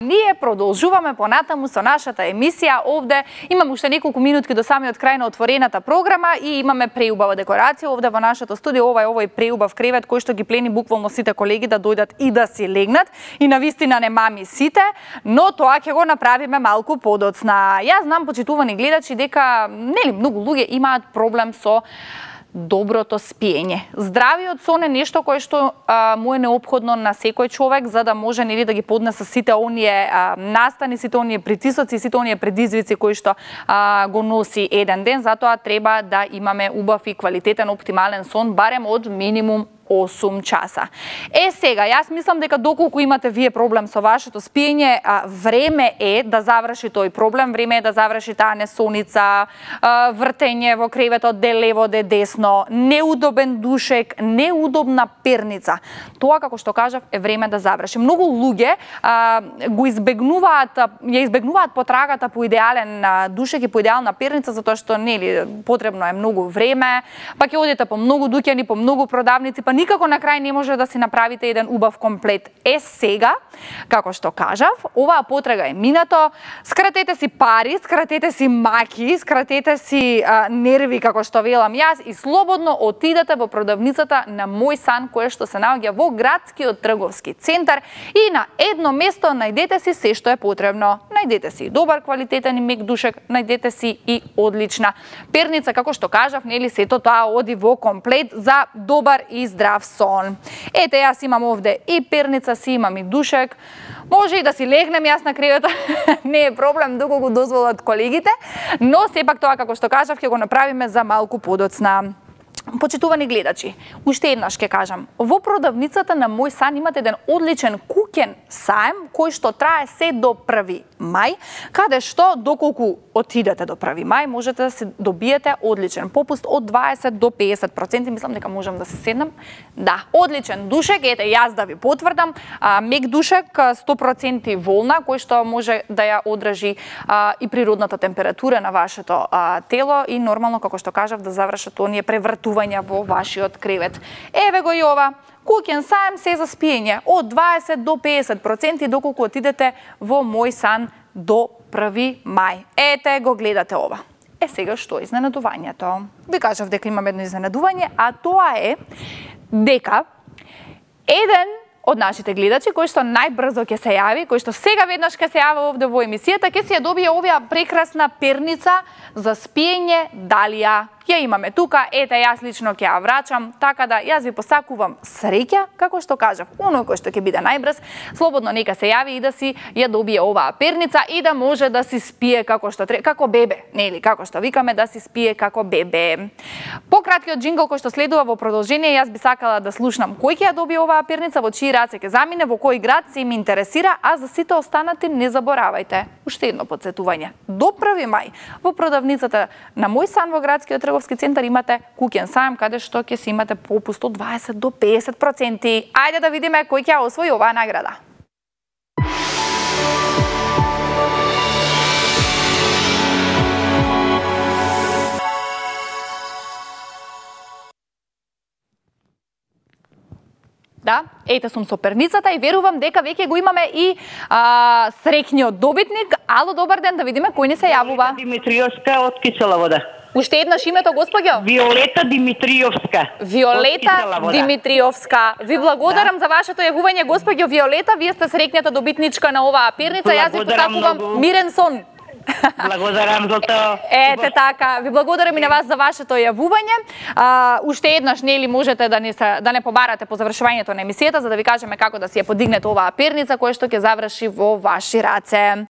Ние продолжуваме понатаму со нашата емисија овде. Имаме уште неколку минутки до самиот крај на отворената програма и имаме преубава декорација овде во нашето студио. Ова е овој преубав кревет кој што ги плени буквално сите колеги да дојдат и да си легнат. И навистина не мами сите, но тоа ќе го направиме малку подоцна. Јас знам, почитувани гледачи, дека нели многу луѓе имаат проблем со доброто спиење. Здравиот сон е нешто кое што му е неопходно на секој човек за да може нели да ги поднесе сите оние настани, сите оние притисоци, сите оние предизвици кои што го носи еден ден. Затоа треба да имаме убав и квалитетен оптимален сон барем од минимум 8 часа. Сега, јас мислам дека доколку имате вие проблем со вашето спиење, време е да заврши тој проблем, време е да заврши таа несоница, вртење во креветот де лево, де десно, неудобен душек, неудобна перница. Тоа, како што кажав, е време да заврши. Многу луѓе го ја избегнуваат потрагата по идеален душек и по идеална перница, затоа што нели потребно е многу време, па ќе одите по многу дуќани, по многу продавници, па никако на крај не може да си направите еден убав комплет. Сега, како што кажав, оваа потрага е минато, скратете си пари, скратете си маки, скратете си нерви, како што велам јас, и слободно отидете во продавницата на Мој сан, која што се наоѓа во градскиот трговски центар, и на едно место најдете си се што е потребно. Најдете си добар квалитетен и мек душек, најдете си и одлична перница, како што кажав, нели сето тоа оди во комплет за добар и здрав сон. Ете, јас имам овде и перница, си имам и душек. Може и да си легнем јас на креветот, не е проблем доколку дозволат колегите, но сепак тоа, како што кажав, ќе го направиме за малку подоцна. Почитувани гледачи, уште еднаш ќе кажам, во продавницата на Мој сан имате еден одличен куќен саем кој што трае се до 1 мај, каде што доколку отидете до 1 мај можете да се добиете одличен попуст од 20 до 50%, мислам дека можам да се седнам. Да, одличен душек, ете јас да ви потврдам, мек душек 100% волна кој што може да ја одржи и природната температура на вашето тело и нормално, како што кажав, да завршат оние превртувања во вашиот кревет. Еве го и ова, куќен саем се за спиење од 20 до 50% доколку отидете во Мој сан до 1 мај. Ете го гледате ова. Сега што е изненадувањето? Ви кажав дека имам едно изненадување, а тоа е дека еден од нашите гледачи, кој што најбрзо ќе се јави, кој што сега веднаш ќе се јави овде во емисијата, ќе си ја добие оваа прекрасна перница за спиење Далија. Ја имаме тука, ете јас лично ќе ја врачам, така да јас ви посакувам среќа, како што кажав, оној кој што ќе биде најбрз, слободно нека се јави и да си ја добие оваа перница и да може да си спие како што како бебе, нели, како што викаме да си спие како бебе. Пократкиот джингл кој што следува во продолжение, јас би сакала да слушнам кој ќе ја добие оваа перница, во чии раце ќе замине, во кој град се ми интересира, а за сите останати не заборавајте. Уште едно подсетување. До 1 мај во продавницата на Мој сан во градскиот трговски центар имате куќен саем каде што ќе си имате попуст од 20 до 50%. Ајде да видиме кој ќе освои оваа награда. Да, ете сум со перницата и верувам дека веќе го имаме и среќниот добитник. Ало, добар ден, да видиме кој ни се јавува. Димитриовска од Кисела вода. Уште еднаш името, господјо? Виолета Димитриовска. Виолета Димитриовска. Ви благодарам за вашето јавување, господјо Виолета. Вие сте среќната добитничка на оваа перница. Јас ви посакувам мирен сон. Благодарам за тоа. Ете така, ви благодарам и на вас за вашето јавување. Уште еднаш нели можете да не побарате по завршувањето на емисијата за да ви кажеме како да си ја подигнете оваа перница која што ќе заврши во ваши раце.